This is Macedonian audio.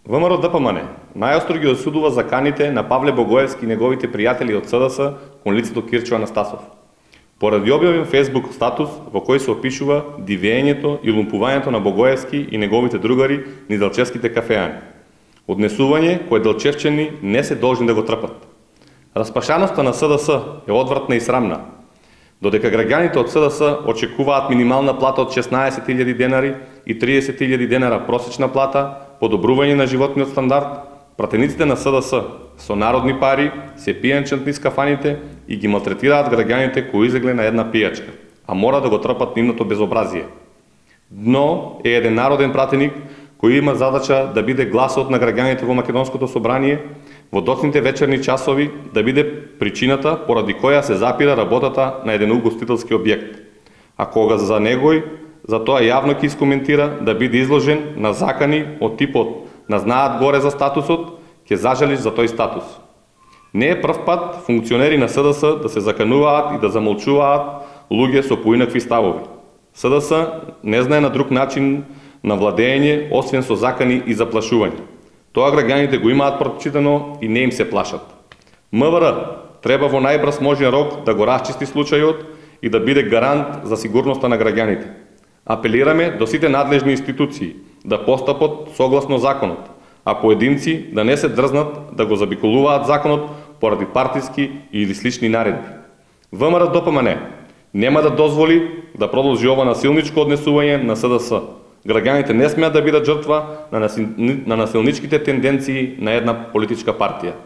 ВМРО-ДПМН најостро ги осудува заканите на Павле Богоевски и неговите пријатели од СДС кон лицето Кирчо Анастасов. Поради објавен Facebook статус во кој се опишува дивењето и лумпувањето на Богоевски и неговите другари низ делчевските кафеани. Однесување кое делчевчани не се должни да го трпат. Распашаноста на СДС е одвратна и срамна. Додека граѓаните од СДС очекуваат минимална плата од 16.000 денари и 30.000 денара просечна плата, подобрување на животниот стандард, пратениците на СДС со народни пари се пијанчат низ кафаните и ги малтретираат граѓаните кои излегле на една пијачка, а мора да го трпат нивното безобразие. Дно е еден народен пратеник кој има задача да биде гласот на граѓаните во Македонското собрание, во доцните вечерни часови да биде причината поради која се запира работата на еден угостителски објект. А кога за негој за тоа јавно ќе искоментира да биде изложен на закани од типот на знаат горе за статусот, ќе зажалиш за тој статус. Не е прв пат функционери на СДС да се закануваат и да замолчуваат луѓе со поинакви ставови. СДС не знае на друг начин на владење, освен со закани и заплашување. Тоа граѓаните го имаат прочитано и не им се плашат. МВР треба во најбрз можен рок да го расчисти случајот и да биде гарант за сигурноста на граѓаните. Апелираме до сите надлежни институции да постапат согласно законот, а поединци да не се дрзнат да го забиколуваат законот поради партиски или слични наредби. ВМРО-ДПМН нема да дозволи да продолжи ова насилничко однесување на СДС. Граѓаните не смеат да бидат жртва на насилничките тенденции на една политичка партија.